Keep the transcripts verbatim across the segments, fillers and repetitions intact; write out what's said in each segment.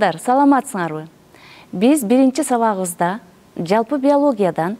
Балдар, саламатсыңарбы? Биз биринчи сабагыбызда жалпы биологиядан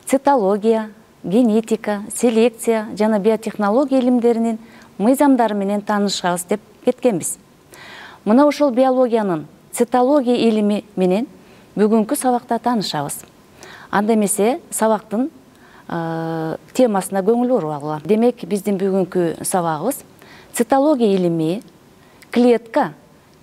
цитология, генетика, селекция жана биотехнология илимдеринин мыйзамдары менен таанышабыз деп кеткенбиз. Мына ошол биологиянын цитология илими менен бүгүнкү сабакта таанышабыз. Анда эмесе сабактын темасына көңүл буруп алгыла. Демек, биздин бүгүнкү сабагыбыз цитология илими клетка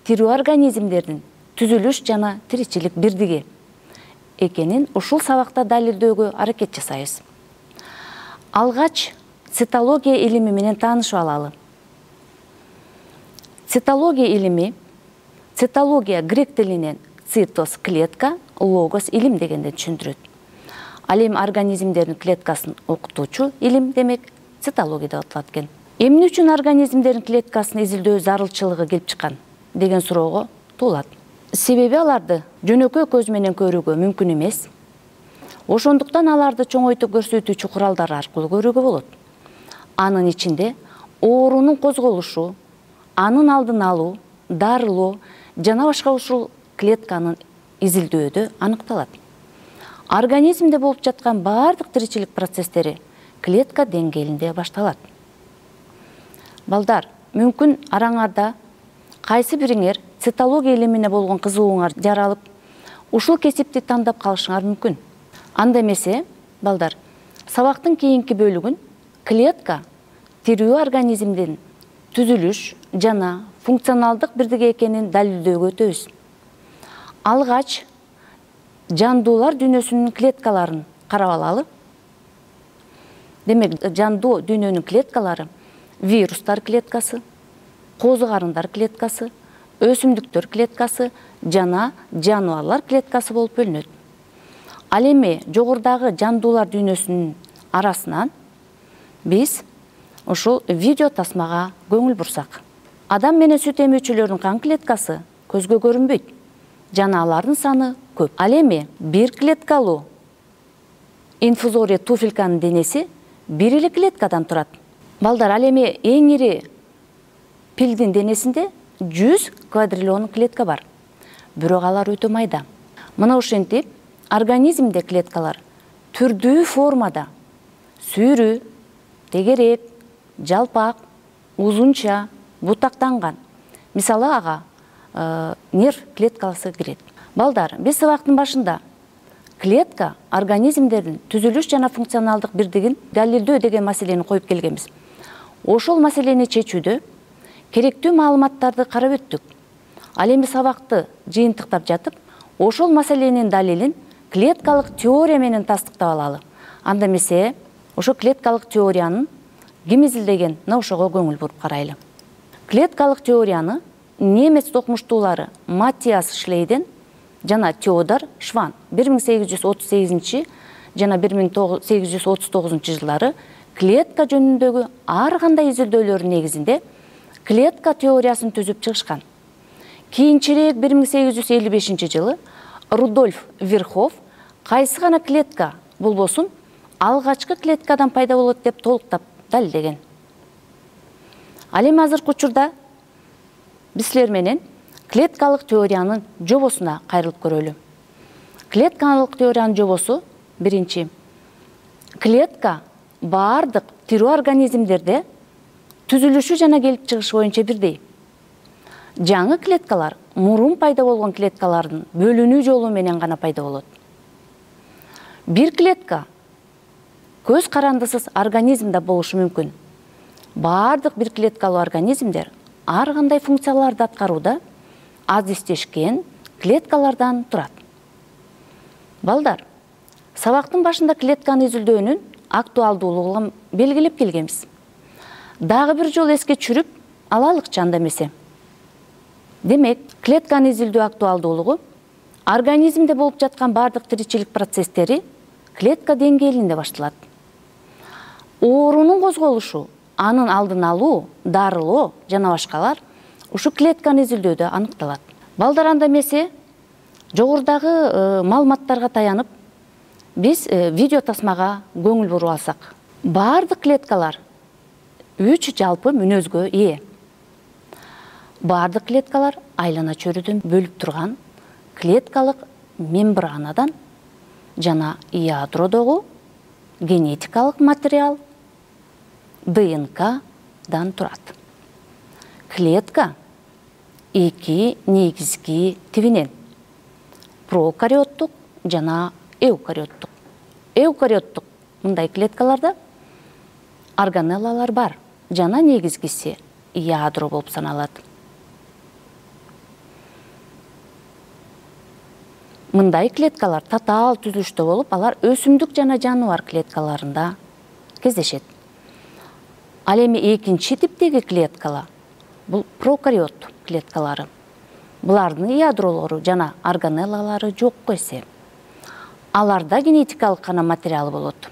тирүү организмдердин түзүлүш жана тиричилик бирдиги экенин ушул сабакта далилдөөгө аракет жасайбыз. Алгач цитология илими менен таанышып алалы. Цитология илими, цитология грек тилинен цитос клетка, логос илим дегенди түшүндүрөт. Ал эми организмдердин клеткасын окутуучу илим демек цитология деп аталат экен. Эмне үчүн организмдердин клеткасын изилдөө зарылчылыгы келип чыккан деген суроого туулат. Себеби аларды жөнөкөй көз менен көрүүгө мүмкүн эмес. Ошондуктан аларды чоңойтуп көрсөтүүчү куралдар аркылуу көрүүгө болот. Анын ичинде оорунун козголушу, анын алдын алуу, дарылоо жана башка ушул клетканын изилдөөдө аныкталат. Организмде болуп жаткан баардык тиричилик процесстери клетка деңгээлинде башталат. Балдар, мүмкүн араңарда кайсы бириңер цитология илимине болгон кызыгууңар жаралып, ушул кесипти тандап калышыңар мүмкүн. Анда эмесе, балдар, сабактын кийинки бөлүгүн клетка тирүү организмдин түзүлүш жана функционалдык бирдиги экенин далилдөөгө өтөбүз. Алгач жандуулар дүйнөсүнүн клеткаларын карап алалы. Демек, жандуу дүйнөнүн клеткалары вирустар клеткасы, козу карындар клеткасы, өсүмдүктөр клеткасы жана жаныбарлар клеткасы болуп бөлүнөт. Ал эми жогорудагы жандуулар дүйнөсүнүн арасынан биз ушул видео тасмага көңүл бурсак. Адам менен сүт эмүүчүлөрдүн кан клеткасы көзгө көрүнбөйт жана алардын саны көп. Ал эми бир клеткалуу инфузория туфельканын денеси бир эле клеткадан турат. Балдар, ал эми эң ири пилдин денесинде жүз квадриллион клетка бар. Бирок алар өтө майда. Мына ошентип организмде клеткалар түрдүү формада сүйрүү, тегерек, жалпак, узунча, бутактанган. Мисалы ага э, нерв клеткасы кирет. Балдар, биз сабактын башында клетка организмдердин түзүлүш жана функционалдык бирдигин далилдөө деген маселени коюп келгенбиз. Ошол маселени чечүүдө керектүү маалыматтарды карап өттүк. Ал эми сабакты жыйынтыктап жатып, ошол маселенин далилин клеткалык теория менен тастыктап алалы. Анда эмесе, ошо клеткалык теорияны ким изилдеген, мына ошого көңүл буруп карайлы. Клеткалык теорияны немец окумуштуулары Маттиас Шлейден жана Теодор Шван бир миң сегиз жүз отуз сегизинчи жана бир миң сегиз жүз отуз тогузунчу жылдары клетка жөнүндөгү ар кандай изилдөөлөрдүн негизинде клетка теориясын түзүп чыгышкан. Кийинчерээк бир миң сегиз жүз элүү бешинчи жылы Рудольф Вирхов кайсы гана клетка болбосун алгачкы клеткадан пайда болот деп толуктап далилдеген. Ал эми азыркы учурда биз силер менен клеткалык теориянын жобосуна кайрылып көрөлү. Клеткалык теориянын жобосу биринчи. Клетка баардык тирүү организмдерде түзүлүшү жана келип чыгышы боюнча бирдей. Жаңы клеткалар мурун пайда болгон клеткалардын бөлүнүү жолу менен гана пайда болот. Бир клетка көз карандысыз организмде болушу мүмкүн. Баардык бир клеткалуу организмдер ар кандай функцияларды аткарууда азистешкен клеткалардан турат. Балдар, сабактын башында клетканы изилдөөнүн актуалдуулугун белгилеп келгенбиз. Дагы бир жолу эске түшүрүп алалыкчы анда эмесе. Демек, клетканы изилдөө актуалдуулугу организмде болуп жаткан баардык тиричилик процесстери клетка деңгээлинде башталат. Оорунун козголушу, анын алдын алуу, дарылоо жана башкалар ушу клетканы изилдөөдө аныкталат. Балдар, анда эмесе жогорудагы маалыматтарга таянып биз видео тасмага көңүл буруп алсак, баардык клеткалар үч жалпы мүнөзгө ээ. Бардык клеткалар айлана чөйрөдөн бөлүп турган клеткалык мембранадан жана ядродогу генетикалык материал ДНКдан турат. Клетка эки негизги тибинен прокариоттук жана эукариоттук. Эукариоттук мындай клеткаларда органеллалар бар жана негизгиси ядро болуп саналат. Мындай клеткалар татаал түзүлүштө болуп, алар өсүмдүк жана жаныбар клеткаларында кездешет. Ал эми экинчи типтеги клеткалар бул прокариот клеткалары. Булардын ядролору жана органеллалары жокко эсе. Аларда генетикалык гана материал болот.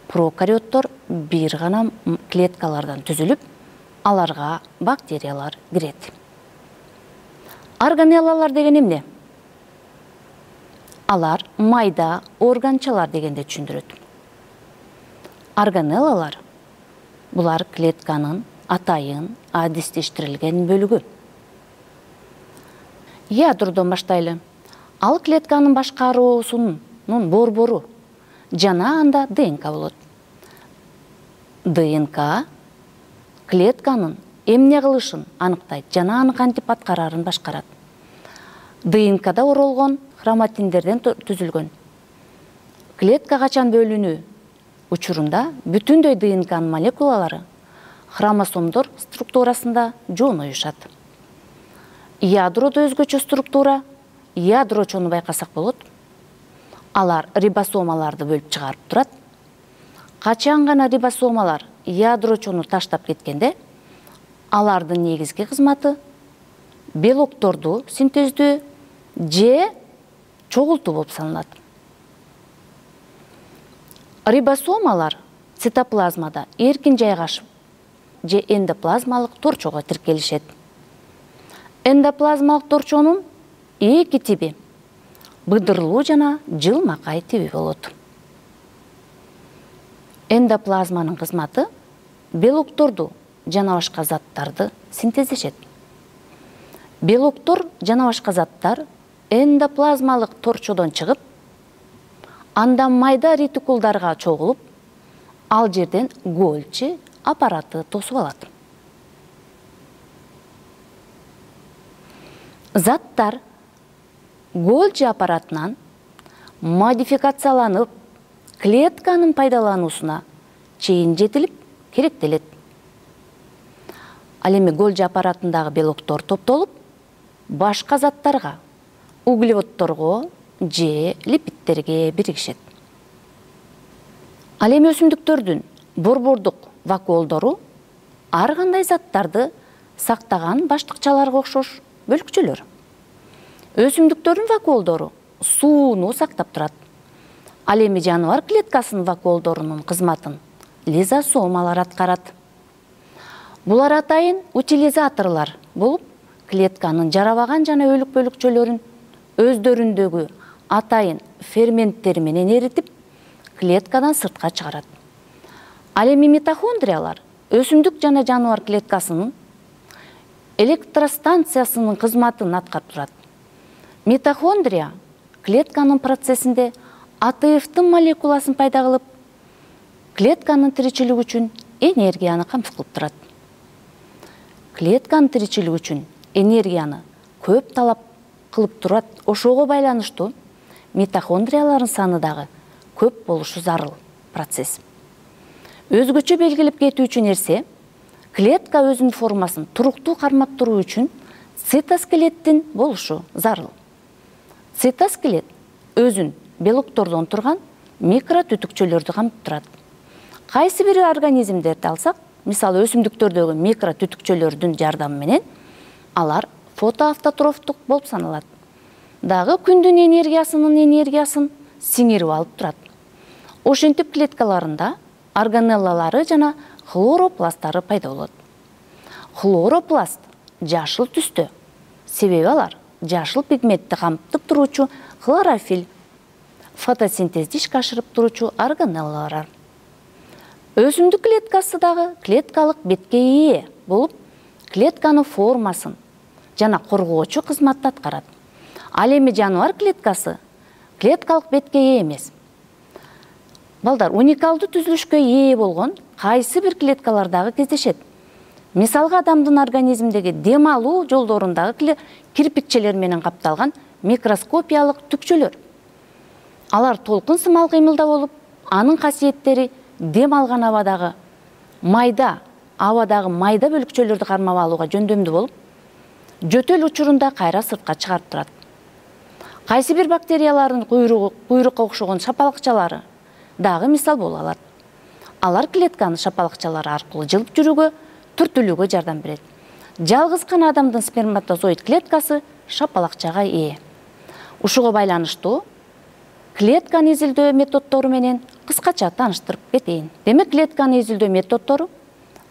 Прокариоттор бир гана клеткалардан түзүлүп, аларга бактериялар кирет. Органеллалар деген эмне? Алар майда органчалар дегенди түшүндүрөт. Органеллалар булар клетканын атайын адистештирилген бөлүгү. Ядродон баштайлы. Ал клетканын башкаруусунун борбору жана анда ДНК болот. ДНК клетканын эмне кылышын аныктайт жана аны кантип аткарарын башкарат. ДНКда оролгон хроматиндерден түзүлгөн. Клетка качан бөлүнүү учурунда бүтүндөй ДНКнын молекулалары хромосомдор структурасында жооноюшат. Ядрода өзгөчө структура, ядрочону байкасак болот. Алар рибосомаларды бөлүп чыгарып турат. Качан гана рибосомалар ядрочону таштап кеткенде, алардын негизги кызматы белокторду синтездөө же чогултуу болуп саналат. Рибосомалар цитоплазмада эркин жайгашып же эндоплазмалык торчого тиркелишет. Эндоплазмалык торчонун эки тиби быдырлуу жана жылмакай тиби болот. Эндоплазманын кызматы белокторду жана башка заттарды синтездешет. Белоктор жана башка заттар эндоплазмалык торчодон чыгып, андан майда ретикулдарга чогулуп, ал жерден Гольчи аппараты тосуп алат. Заттар Гольчи аппаратынан модификацияланып, клетканын пайдалануусуна чейин жетилип керектелет. Ал эми Гольчи аппаратындагы белоктор топтолуп, башка заттарга, углеводторго же липидтерге биригишет. Ал эми өсүмдүктөрдүн борбордук вакуолдору ар кандай заттарды сактаган баштыкчаларга окшош бөлүкчөлөр. Өсүмдүктөрдүн вакуолдору сууну сактап турат. Ал эми жаныбар клеткасынын вакуолдорунун кызматын лизосомалар аткарат. Булар атайын утилизаторлор болуп, клетканын жарабаган жана өлүк бөлүкчөлөрүн өздөрүндөгү атайын ферменттер менен эритип, клеткадан сыртка чыгарат. Ал эми митохондриялар өсүмдүк жана жаныбар клеткасынын электростанциясынын кызматын аткарып турат. Митохондрия клетканын процессинде А Т Ф'тын молекуласын пайда кылып, клетканын тиричилиги үчүн энергияны камсыз кылып турат. Клетканын тиричилиги үчүн энергияны көп талап кылып турат. Ошого байланыштуу митохондриялардын саны дагы көп болушу зарыл процесс. Өзгөчө белгилеп кетүүчү нерсе, клетка өзүнүн формасын туруктуу кармап туруу үчүн цитоскелеттин болушу зарыл. Цитоскелет өзүн белоктордон турган микротүтүкчөлөрдү камтып турат. Кайсы бир организмдерди алсак, мисалы өсүмдүктөрдөгү микротүтүкчөлөрдүн жардамы менен алар фотоавтотрофтук болуп саналат. Дагы күндүн энергиясынын энергиясын сиңирип алып турат. Ошентип клеткаларында органеллалары жана хлоропласттары пайда болот. Хлоропласт жашыл түстө, себеби алар жашыл пигментти камтып туруучу хлорофилл, фотосинтезди ишке ашырып туруучу органеллалар. Өсүмдүк клеткасы дагы клеткалык бетке ээ болуп, клетканын формасын жана коргоочу кызматты аткарат. Ал эми жаныбар клеткасы клеткалык бетке ээ эмес. Балдар, уникалдуу түзүлүшкө ээ болгон кайсы бир клеткалар дагы кездешет. Мисалга, адамдын организмдеги дем алуу жолдорундагы кирпикчелер менен капталган микроскопиялык түкчөлөр. Алар толкун сымал кыймылда болуп, анын касиеттери дем алган абадагы майда, абадагы майда бөлүкчөлөрдү кармап алууга жөндөмдүү болуп, жөтөл учурунда кайра сыртка чыгарып турат. Кайсы бир бактериялардын куйрукка окшогон шапалакчалары дагы мисал боло алат. Алар клетканын шапалакчалары аркылуу жылып жүрүүгө, түртүлүүгө жардам берет. Жалгыз гана адамдын сперматозоид клеткасы шапалакчага ээ. Ушуга байланыштуу клетканы изилдөө методдору менен кыскача тааныштырып кетейин. Демек, клетканы изилдөө методдору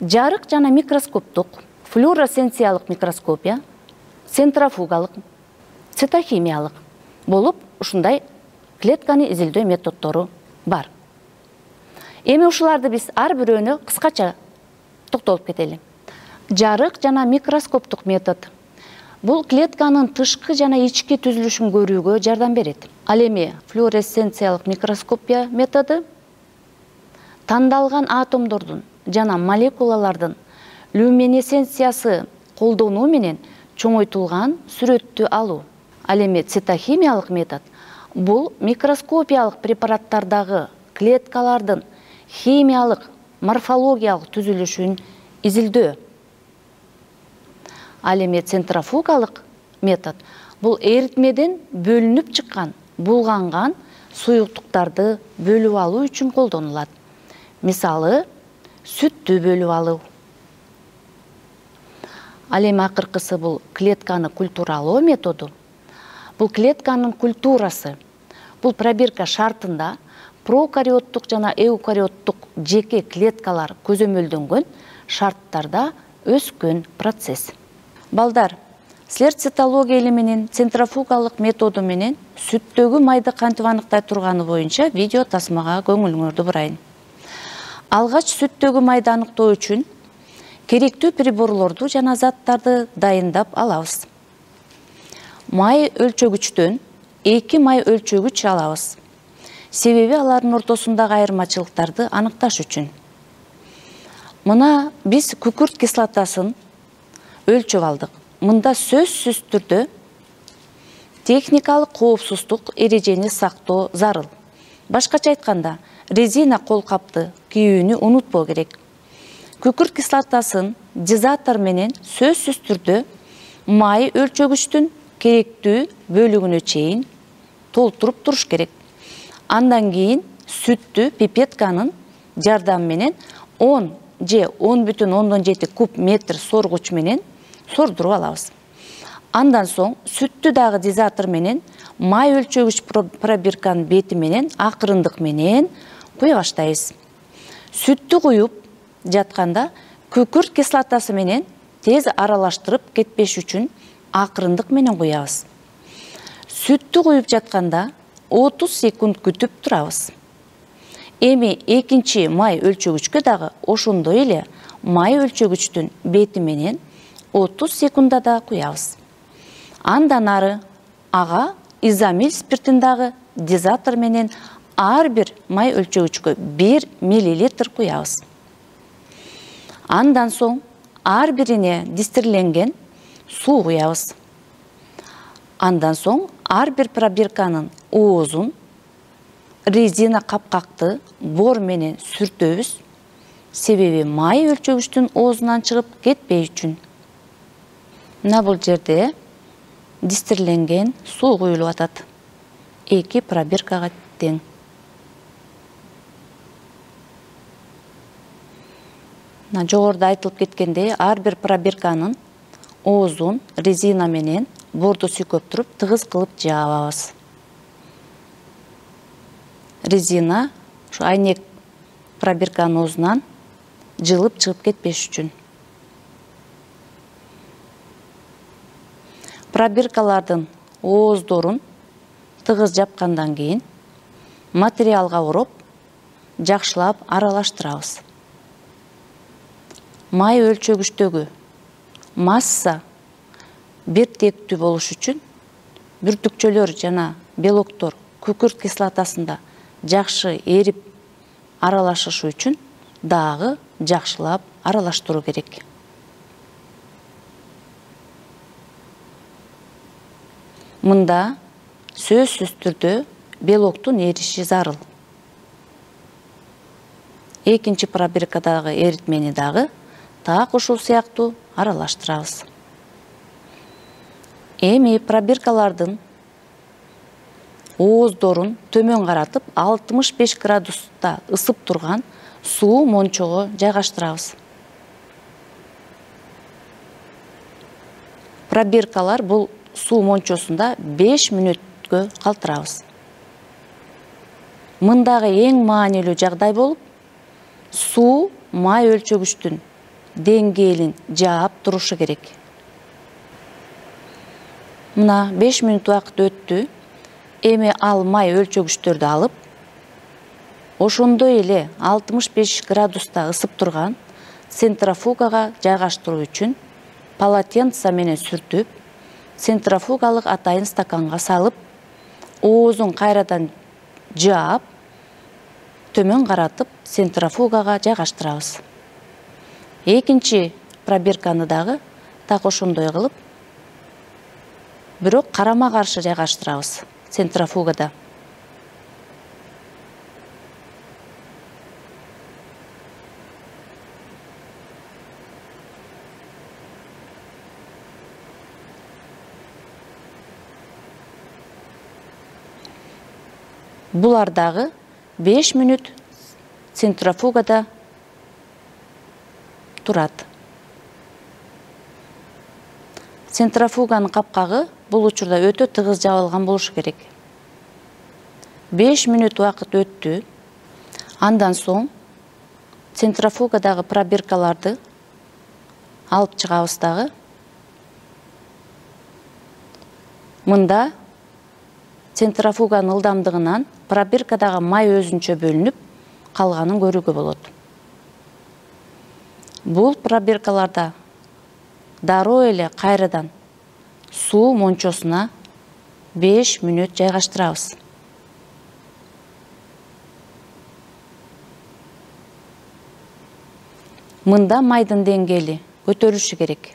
жарык жана микроскоптук, флуоресценциялык микроскопия, центрофугалык, цитохимиялык болуп, ушундай клетканы изилдөө методдору бар. Эми ушуларды биз ар бирөөнө кыскача токтолуп кетели. Жарык жана микроскоптук метод. Бул клетканын тышкы жана ички түзүлүшүн көрүүгө жардам берет. Ал эми флуоресценциялык микроскопия методу тандалган атомдордун жана молекулалардын люминесценциясы колдонуу менен чоңойтулган сүрөттү алуу. Ал эми цитохимиялык метод бул микроскопиялык препараттардагы клеткалардын химиялык, морфологиялык түзүлүшүн изилдөө. Ал эми центрофугалык метод бул эритмеден бөлүнүп чыккан, булганган суюктуктарды бөлүп алуу үчүн колдонулат. Мисалы, сүттү бөлүп алуу. Ал эми акыркысы бул клетканы культуралоо методу. Бул клетканын культурасы. Бул пробирка шартында прокариоттук жана эукариоттук жеке клеткалар көзөмөлдөнгөн шарттарда өскөн процесс. Балдар, силер цитология или менен центрофугалык методу менен сүттөгү майды кантип аныктай турганы боюнча видео тасмага көңүлүңөрдү бурайын. Алгач сүттөгү майды аныктоо үчүн керектүү приборлорду жана заттарды дайындап алабыз. Май өлчөгүчтөн эки май өлчөгүч алабыз. Себеби алардын ортосундагы айырмачылыктарды аныкташ үчүн. Мына биз күкүрт кислотасын өлчөп алдык. Мында сөзсүз түрдө техникалык коопсуздук эрежени сактоо зарыл. Башкача айтканда, резина колкапты кийүүнү унутпоо керек. Күкүрт кислотасын дозатор менен сөзсүз түрдө май өлчөгүчтүн керектүү бөлүгүнө чейин толтуруп туруш керек. Андан кийин сүттү пипетканын жардамы менен он же он бүтүн ондон жети куб метр соргуч менен сордуруп алабыз. Андан соң сүттү дагы дозатор менен май өлчөгүч пробирканын бети менен акырындык менен куя баштайбыз. Сүттү куюп жатканда күкүрт кислотасы менен тез аралаштырып кетпеш үчүн акырындык менен куябыз. Сүттү куюп жатканда отуз секунд күтүп турабыз. Эми экинчи май өлчөгүчкө дагы ошондой эле май өлчөгүчтүн бети менен отуз секундада куябыз. Андан ары ага изомил спиртин дагы дозатор менен ар бир май өлчөгүчкө бир миллилитр куябыз. Андан соң ар бирине дистирленген суу куябыз. Андан соң ар бир пробирканын оозун резина капкакты бор менен сүртөбүз, себеби май өлчөгүчтүн оозунан чыгып кетпей үчүн. Мына бул жерде дистирленген суу куюлуп атат. Эки пробиркага тең. Мына жогоруда айтылып кеткендей, ар бир пробирканын оозун резина менен борду сүйкөп туруп тыгыз кылып жаабабыз. Резина ушу айнек пробирканын оозунан жылып чыгып кетпеш үчүн. Пробиркалардын ооздорун тыгыз жапкандан кийин материалга ороп, жакшылап аралаштырабыз. Май өлчөгүчтөгү масса биртектүү болуш үчүн бүртүкчөлөр жана белоктор күкүрт кислотасында жакшы эрип аралашышы үчүн дагы жакшылап аралаштыруу керек. Мында сөзсүз түрдө белоктун эриши зарыл. Экинчи пробиркадагы эритмени дагы так ушул сыяктуу аралаштырабыз. Эми пробиркалардын ооздорун төмөн каратып алтымыш беш градуста ысып турган суу мончого жайгаштырабыз. Пробиркалар бул суу мончосунда беш мүнөткө калтырабыз. Мындагы эң маанилүү жагдай болуп, суу май өлчөгүчтүн деңгээлин жаап турушу керек. Мына беш мүнөт убакыт өттү. Эми ал май өлчөгүчтөрдү алып, ошондой эле алтымыш беш градуста ысып турган центрофугага жайгаштыруу үчүн полотенце менен сүртүп, центрофугалык атайын стаканга салып, оозун кайрадан жаап, төмөн каратып, центрофугага жайгаштырабыз. Экинчи пробирканы дагы так ошондой кылып, бирок карама каршы жайгаштырабыз центрофугада. Булар дагы беш мүнөт центрофугада турат. Центрофуганын капкагы бул учурда өтө тыгыз жабылган болушу керек. беш мүнөт убакыт өттү. Андан соң центрофугадагы пробиркаларды алып чыгабыз дагы. Мында центрофуганын ылдамдыгынан пробиркадагы май өзүнчө бөлүнүп, калганын көрүүгө болот. Бул пробиркаларда дароо эле кайрадан суу мончосуна беш мүнөт жайгаштырабыз. Мында майдын деңгээли көтөрүлүшү керек.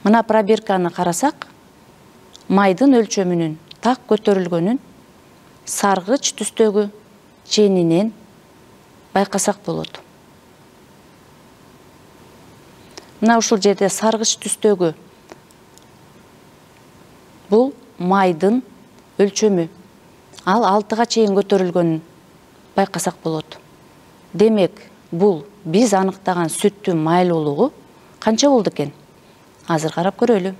Мына пробирканы карасак, майдын өлчөмүнүн так көтөрүлгөнүн саргыч түстөгү ченинен байкасак болот. Мына ушул жерде саргыч түстөгү бул майдын өлчөмү. Ал алтыга чейин көтөрүлгөнүн байкасак болот. Демек, бул биз аныктаган сүттүн майлуулугу канча болду экен? Азыр карап көрөлү.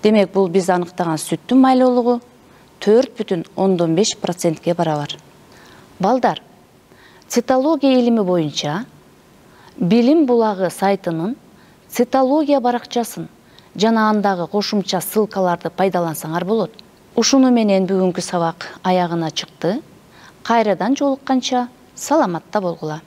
Демек, бул биз аныктаган сүттүн майлуулугу төрт бүтүн ондон беш процентке барабар. Балдар, цитология илими боюнча Билим булагы сайтынын цитология баракчасын жана андагы кошумча ссылкаларды пайдалансаңар болот. Ушуну менен бүгүнкү сабак аягына чыкты. Кайрадан жолукканча саламатта болгула.